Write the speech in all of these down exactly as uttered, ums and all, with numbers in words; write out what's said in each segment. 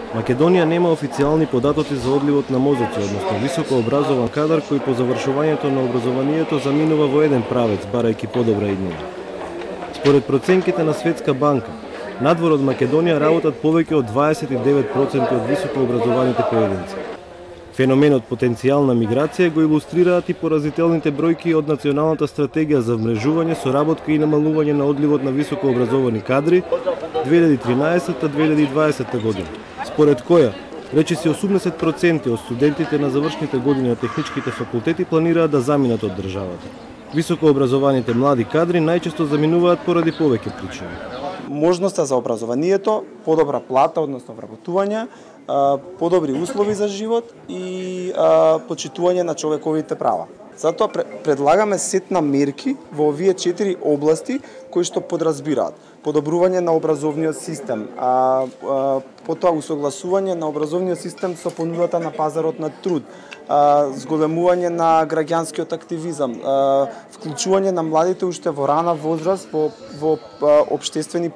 Македонија нема официјални податоци за одливот на мозоци, односно високо образован кадар кој по завршувањето на образованието заминува во еден правец, барајќи подобра иднина. Според проценките на Светска банка, надвор од Македонија работат повеќе од дваесет и девет проценти од високо образованите поединци. Феноменот потенцијална миграција го илустрираат и поразителните бројки од Националната стратегија за вмрежување, соработка и намалување на одливот на високо образовани кадри две илјади и тринаесетта до две илјади и дваесетта година, според која речиси осумдесет проценти од студентите на завршните години на техничките факултети планираат да заминат од државата. Високо образованите млади кадри најчесто заминуваат поради повеќе причини. Можноста за образованието, подобра плата, односно вработување, подобри услови за живот и почитување на човековите права. Затоа предлагаме сет на мерки во овие четири области кои што подразбираат подобрување на образовниот систем, а, а, потоа усогласување на образовниот систем со понудата на пазарот на труд, а, зголемување на граѓанскиот активизам, а, вклучување на младите уште во рана возраст во, во а, општествени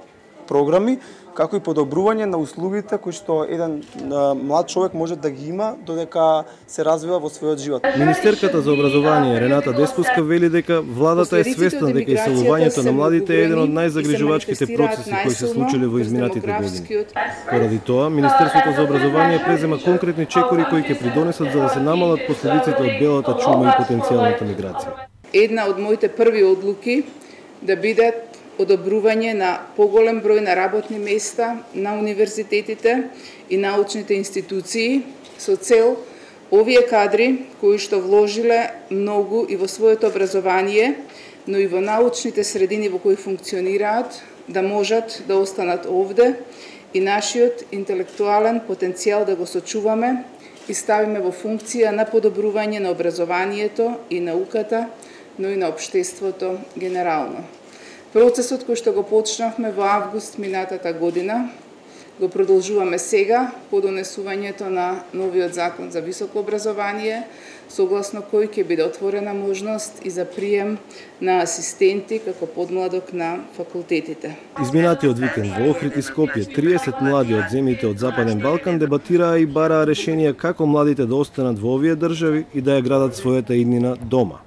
програми, како и подобрување на услугите кои што еден а, млад човек може да ги има додека се развива во својот живот. Министерката за образование Рената Деспуска вели дека владата е свесна дека иселувањето на младите е еден од најзагрижувачките процеси кои се случиле во изминатите години. Поради тоа, Министерството за образование презема конкретни чекори кои ќе придонесат за да се намалат последиците од белата чума и потенцијалната миграција. Една од моите први одлуки да бидат одобрување на поголем број на работни места на универзитетите и научните институции со цел овие кадри кои што вложиле многу и во своето образование, но и во научните средини во кои функционираат, да можат да останат овде и нашиот интелектуален потенцијал да го сочуваме и ставиме во функција на подобрување на образованието и науката, но и на општеството генерално. Процесот кој што го почнавме во август минатата година, го продолжуваме сега по донесувањето на новиот закон за високо образование, согласно кој ќе биде отворена можност и за прием на асистенти како подмладок на факултетите. Изминатиот викенд во Охрид и Скопје триесет млади од земјите од Западен Балкан дебатираа и бараа решенија како младите да останат во овие држави и да ја градат својата иднина дома.